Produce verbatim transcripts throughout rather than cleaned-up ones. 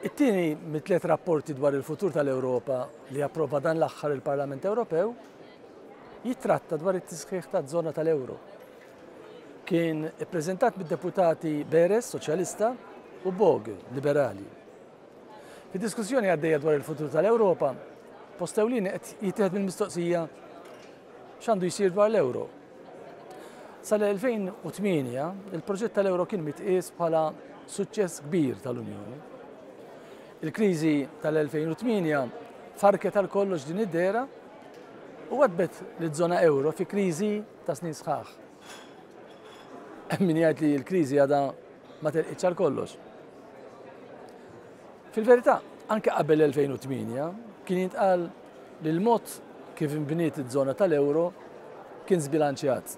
It-tieni mit-tliet rapporti dwar il-futur tal-Ewropa li approva dan l-aħħar il-Parlament Ewropew jitratta dwar it-tisħiħ taż-żona tal-euro. Kien ippreżentat mid-deputati Beres, Soċjalista, u Böge, Liberali. Fid-diskussjoni għaddejja dwar il-futur tal-Ewropa, post ewlieni qed jittieħed mill-mistoqsija x'għandu jsir dwar l-euro. Sal-elfejn u tmienja, il-proġett tal-euro kien mitqies bħala suċċess kbir tal-Unjoni. Il-kriżi tal-elfejn u tmienja farket għal kollox din id-dehra u għadbet liż-żona euro fi kriżi ta' snin sħaħ. Hemm min jgħid li l-kriżi għadha ma telqitx għal kollox. Fil-verità, anke qabel l-elfejn u tmienja kien jintqal li l-mod kif inbniet iż-żona tal-euro kien żbilanċjat.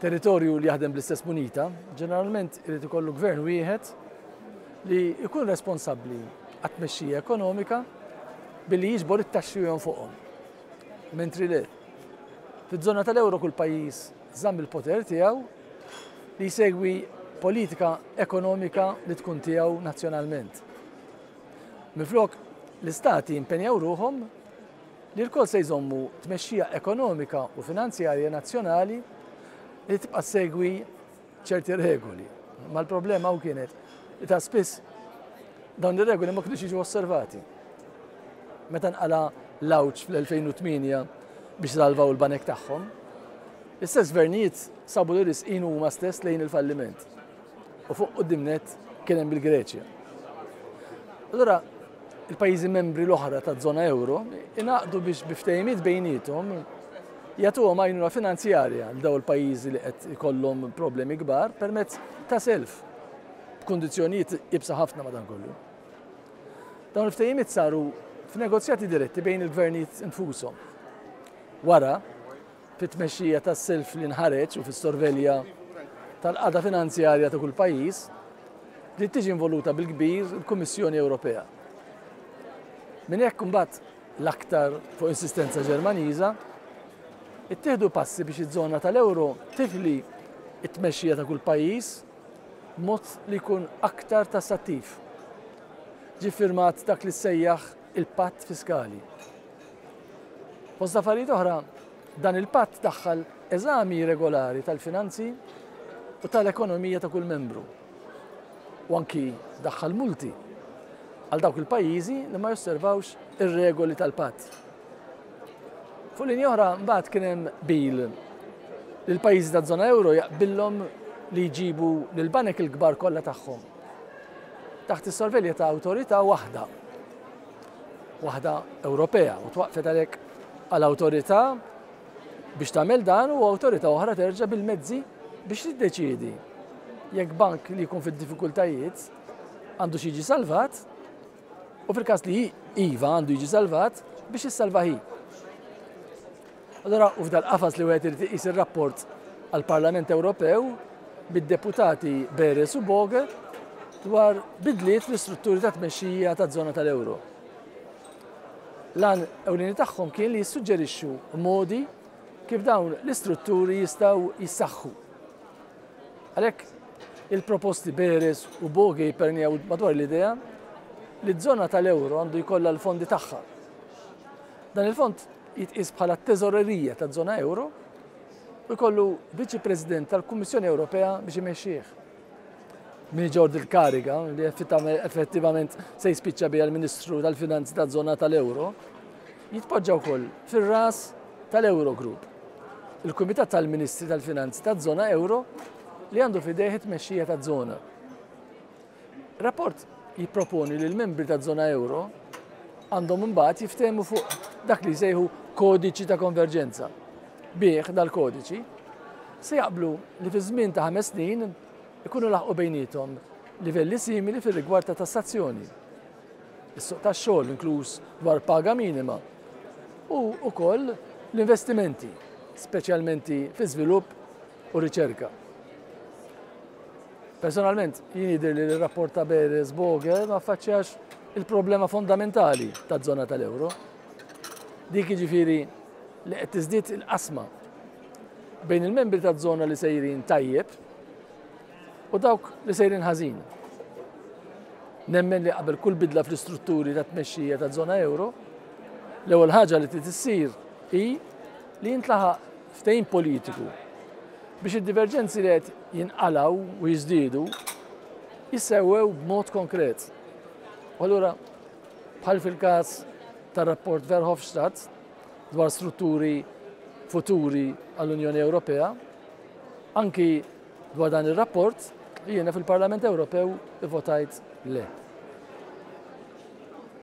Territorju li jaħdem bl-istess munita ġeneralment irid ikollu gvern wieħed li jkun responsabbli għat-tmexxija ekonomika billi jiġbor it-taxxi u jonfoqhom. Mentri le, fiż-żona tal-euro kull pajjiż żamm il-poter tiegħu li jsegwi politika ekonomika li tkun tiegħu nazzjonalment. Minflok, l-istati impenjaw ruħhom li lkoll se jżommu tmexxija ekonomika u finanzjarja nazzjonali li tibqa' segwi ċerti regoli. Ma l-problema hawn kienet li ta' spiss dawn ir-regoli ma kinux jiġu osservati. Meta nqala l-għawġ fl-elfejn u tmienja biex salvaw il-banek tagħhom, l-istess gvernijiet sabu li risqin huma stess lejn il-falliment. U fuq quddiem nett kien hemm il-Greċja. Allura, il-pajjiżi membri l-oħra taż-żona euro ingħaqdu biex bi ftehimiet bejniethom jagħtuhom għajnuna finanzjarja għal dawn il-pajjiżi li qed ikollhom problemi kbar permezz ta' self b'kundizzjonijiet iebsa ħafna madankollu. Dawn il-ftehimiet saru f'negozjati diretti bejn il-gvernijiet infushom. Wara, fit-tmexxija tas-self li nħareġ u fis-sorvelja tal-qagħda finanzjarja ta' kull pajjiż, li tiġi involuta bil-kbir il-Kummissjoni Ewropea. Minn hekk imbagħad l-aktar fuq insistenza Ġermaniża, ittieħdu passi biex iż-żona tal-euro tifli t-tmexxija ta' kull pajjiż b'mod li jkun aktar tassattiv. Ġie ffirmat dak li ssejjaħ il-patt fiskali. Fost affarijiet oħra, dan il-patt daħħal eżami regolari tal-finanzi u tal-ekonomija ta' kull membru. U anki daħħal multi għal dawk il-pajjiżi li ma josservawx ir-regoli tal-patt. Fuq linja oħra mbagħad kien hemm bil li l-pajjiżi taż-żona euro jaqbillhom li jġibu lill-banek il-kbar kollha tagħhom taħt is-sorvelja ta' awtorità waħda, waħda Ewropea, u twaqfet għalhekk għal awtorità biex tagħmel dan u awtorità oħra terġa' bil-mezzi biex tiddeċiedi jekk bank li jkun fid-diffikultajiet għandu xi jiġi salvat u fil-każ li iva għandu jiġi salvat biex jissalva hi. Allora, u f'dal-qafas li wieħed irid iqis ir-rapport għall-Parlament Ewropew bid-deputati Beres u Böge dwar bidliet fl-istrutturi ta' tmexxija taż-żona tal-euro. L-għan ewlieni tagħhom kien li jissuġġerixxu modi kif dawn l-istrutturi jistgħu jissaħħu. Għalhekk il-proposti Beres u Böge jippernew madwar l-idea li ż-żona tal-euro għandu jkollha l-fondi tagħha. Dan il-fond jitqies bħala t-teżorerija taż-żona euro u jkollu viċi President tal-Kummissjoni Ewropea biex imexxih. Min iġorr il-kariga li effettivament se jispiċċa biha l-Ministru tal-Finanzi taż-żona tal-Euro, jitpoġġa wkoll fir-ras tal-Eurogroup, il-Kumitat tal-Ministri tal-Finanzi taż-żona Euro li għandu f'idejh it-tmexxija taż-żona. Rapport jipproponi li l-membri taż-żona euro għandhom imbagħad jiftehmu fuq dak li jsejħu kodiċi ta' konverġenza. Bih dal-kodiċi se jaqblu li fi żmien ta' ħames snin ikunu laħqu bejniethom livelli simili fir-rigward ta' tassazzjoni, is-suq tax-xogħol inkluż dwar paga minima u wkoll l-investimenti, speċjalment fi żvilupp u riċerka. Personalment, jien jidher li l-rapport ta' Beres Böge ma affaċċjax il-problema fondamentali taż-żona tal-euro. Dik jiġifieri li qed tiżdied il-qasma bejn il-membri taż-żona li sejrin tajjeb u dawk li sejrin ħażin. Nemmen li qabel kull bidla fl-istrutturi ta' tmexxija ta' żona euro, l-ewwel ħaġa li trid issir hi li jintlaħaq ftehim politiku biex id-diverġenzi li qed jinqalgħu u jiżdiedu jissewwew b'mod konkret. U allura, bħal fil-każ tar-rapport Verhofstadt dwar strutturi futuri għall-Unjoni Ewropea, anki dwar dan ir-rapport jiena fil-Parlament Ewropew ivvotajt le.